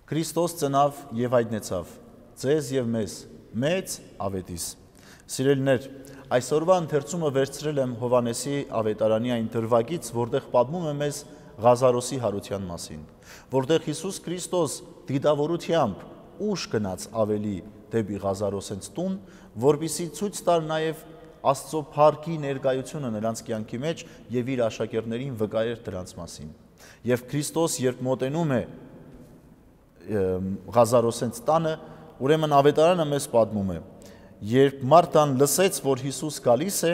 Քրիստոս ծնավ եւ հայտնեցավ ձեզ եւ մեզ մեծ ավետիս։ Սիրելիներ, այսօրվա ընթերցումը վերցրել եմ Հովհաննեսի ավետարանի այն դրվագից, որտեղ պատմում է մեզ Ղազարոսի հարության մասին, որտեղ Հիսուս Քրիստոս դիտավորությամբ ուշ գնաց ավելի դեպի Ղազարոսենց տուն, որպեսզի ցույց տար նաեւ Աստծո փառքի ներկայությունը նրանց կյանքի մեջ եւ իր աշակերտներին վկայեր դրանց մասին։ Եվ Քրիստոս երբ մոտենում է Ղազարոսենց տանը, ուրեմն ավետարանը մեզ պատմում է, երբ Մարթան լսեց, որ Հիսուս գալիս է,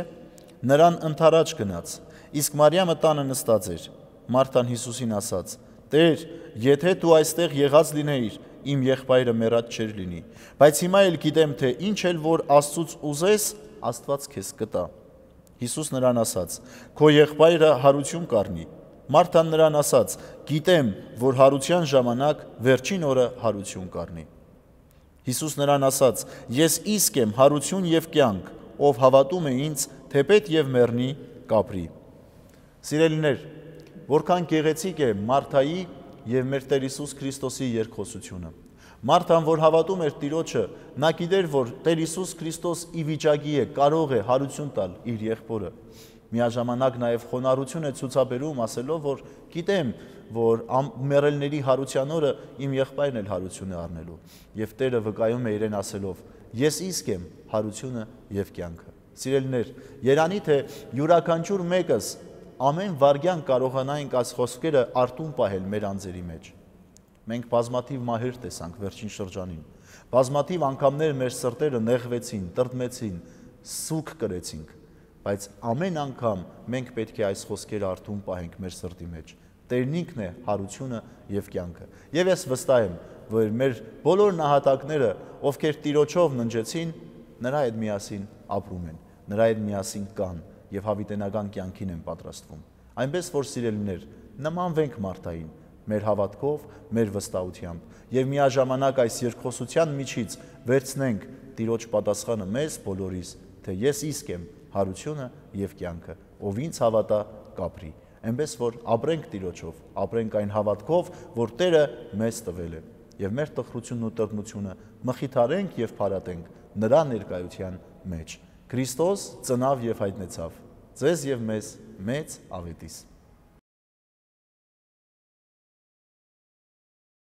նրան ընդառաջ գնաց, իսկ Մարիամը տանը նստած էր։ Մարթան Հիսուսին ասաց. «Տեր, եթե դու այստեղ եղած լինեիր, իմ եղբայրը մեռած չէր լինի, բայց հիմա էլ գիտեմ, թե ինչ էլ որ Աստծուց ուզես, Աստված քեզ կտա»։ Հիսուս նրան ասաց. «Քո եղբայրը հարություն կառնի»։ Մարթան նրան ասաց. «Գիտեմ, որ հարության ժամանակ վերջին օրը հարություն կառնի»։ Հիսուս նրան ասաց. «Ես իսկ եմ հարություն եւ կյանք, ով հավատում է ինձ, թեպետ եւ մեռնի, կապրի»։ Սիրելիներ, որքան գեղեցիկ է Մարթայի եւ մեր Տեր Հիսուս Քրիստոսի երկխոսությունը։ Մարթան, որ հավատում էր Տիրոջը, նա գիտեր, որ Տեր Հիսուս Քրիստոս ի վիճակի է, կարող է հարություն տալ իր եղբորը։ Միաժամանակ նաև խոնարհություն է ցուցաբերում, ասելով, որ գիտեմ, որ մեռելների հարության օրը իմ եղբայրն էլ հարություն է առնելու։ Եվ Տերը վկայում է իրեն ասելով. «Ես իսկ եմ հարությունը եւ կյանքը»։ Սիրելիներ, երանի թե յուրաքանչյուր մեկս ամեն վայրկյան կարողանայինք այս խոսքերը արտուն պահել մեր անձերի մեջ։ Մենք բազմաթիվ մահեր տեսանք վերջին շրջանին։ Բազմաթիվ անգամներ մեր սրտերը նեղվեցին, տրտմեցին, սուգ կրեցինք, բայց ամեն անգամ մենք պետք է այս խոսքերը արտուն պահենք մեր սրտի մեջ։ Տերն ինքն է հարությունը եւ կյանքը։ Եվ ես վստահ եմ, որ մեր բոլոր նահատակները, ովքեր Տիրոջով ննջեցին, նրա հետ միասին ապրում են, նրա հետ միասին կան եւ հավիտենական կյանքին են պատրաստվում։ Այնպես որ սիրելիներ, նմանվենք Մարթային մեր հավատքով, մեր վստահությամբ եւ միաժամանակ այս երկխոսության միջից վերցնենք Տիրոջ պատասխանը մեզ բոլորիս, թե ես իսկ եմ հարությունը եւ կյանքը, ով ինձ հավատա, կապրի։ Այնպես որ ապրենք Տիրոջով, ապրենք այն հավատքով, որ Տերը մեզ տվել է, եւ մեր տխրությունն ու տրտմությունը մխիթարենք եւ փարատենք նրա ներկայության մեջ։ Քրիստոս ծնավ եւ հայտնեցավ ձեզ եւ մեզ մեծ ավետիս։